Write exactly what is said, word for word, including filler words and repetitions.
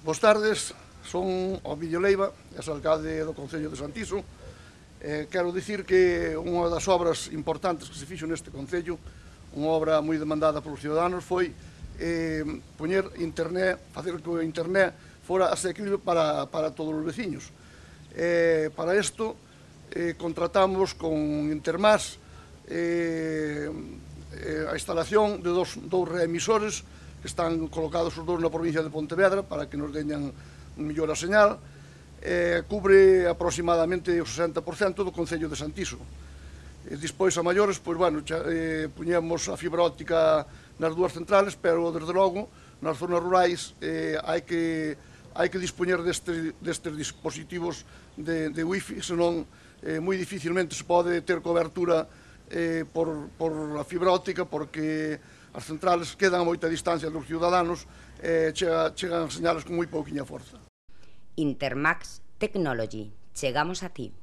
Boas tardes, son Ovidio Leiva, ex alcalde do Concello de Santiso. Eh, quero dicir que unha das obras importantes que se fixo neste Concello, unha obra moi demandada polos ciudadanos, foi eh, poñer internet, facer que o internet fora asequible para, para todos os veciños. Eh, para isto, eh, contratamos con Intermás eh, eh, a instalación de dos, dous reemisores que están colocados os dous na provincia de Pontevedra para que nos deñan mellor a señal. Eh, cubre aproximadamente o sesenta por cento do Concello de Santiso. E despois a maiores, pois, bueno, xa, eh, puñemos a fibra óptica nas dúas centrales, pero, desde logo, nas zonas rurais eh, hai que hai que dispoñer destes, destes dispositivos de, de wifi, senón eh, moi dificilmente se pode ter cobertura eh, por, por a fibra óptica, porque as centrales quedan a moita distancia dos ciudadanos e eh, chega, chegan señales con moi pouquiña forza. Intermax Technology. Chegamos a ti.